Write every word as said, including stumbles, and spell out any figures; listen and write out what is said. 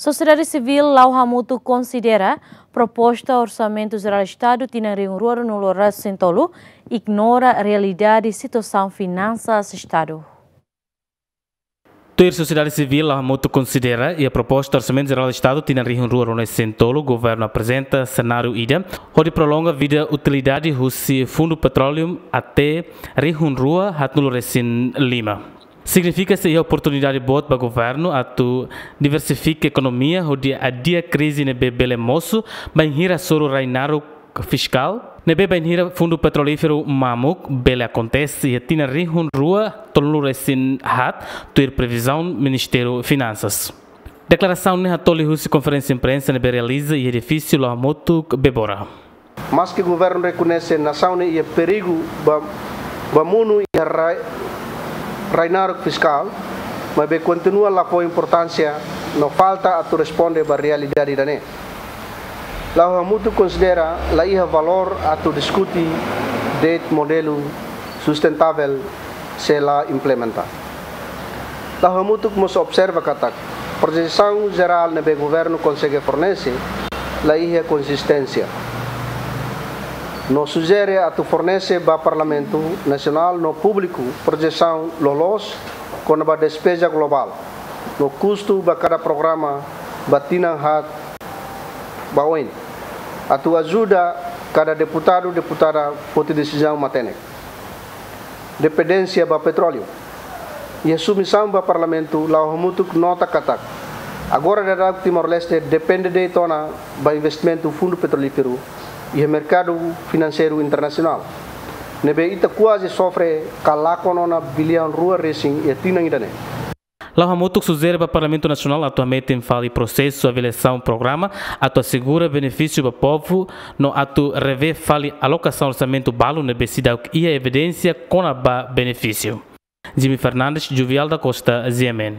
Sosiedade sivíl la'o hamutuk konsidera proposta Orsamentu Jerál Estadu tinan rihun rua ruanulu resin tolu ignora realidade situasaun finansas Estadu. Tuir sosiedade sivíl la'o hamutuk konsidera iha proposta Orsamentu Jerál Estadu tinan rihun rua ruanulu resin tolu governu aprezenta senáriu ida hodi prolonga vida utilidade husi Fundu Petróleu até rihun rua haatnulu resin lima. Signifika sei iha oportunidade boot ba governu atu diversifika ekonomia hodi adia krize ne'ebé bele mosu bainhira hasoru rai naruk fiskál ne'ebé bainhira fundu petrolíferu mamuk bele akontese iha tinan rihun rua tolunulu resin haat, tuir previzaun Ministériu Finansas. Deklarasaun ne'e hatoli husi konferénsia imprensa ne'ebé realiza iha edifísiu la'o hamutuk Bebora. Maske governu rekoñese nasaun ne'e iha perigu ba, ba monu iha rai, rai naruk fiskál, maibé kontinua la fó importánsia no falta atu responde ba realidade ida-ne'e. La'o hamutuk konsidera la iha valór atu diskute de'it modelu sustentável se la implementa. La'o hamutuk mós observa katak projesaun jerál ne'ebé governu konsege fornese la iha konsisténsia. No sujere atu fornese ba Parlamentu Nasionál no públiku projesaun loloos kona-ba despeza globál no kustu ba kada programa ba tinan haat ba oin, atu ajuda kada deputadu, deputada foti desizaun matenek. Dependénsia ba petróleu. Iha submisaun ba Parlamentu, la'o hamutuk nota katak agora daudaun Timor-Leste depende de'it ona ba investimentu fundu petrolíferu iha merkadu finanseiru internasionál, ne'ebé ita kuaze sofre ka lakon ona biliaun rua resin iha tinan ida-ne'e. La'o hamutuk sujere ba Parlamentu Nasionál atu hametin fali prosesu avaliasaun programa atu asegura benefísiu ba povu no atu revee fali alokasaun orsamentu balu ne'ebé seidauk iha evidénsia kona-ba benefísiu. Jimmy Fernandes, Juvial da Costa, G M N.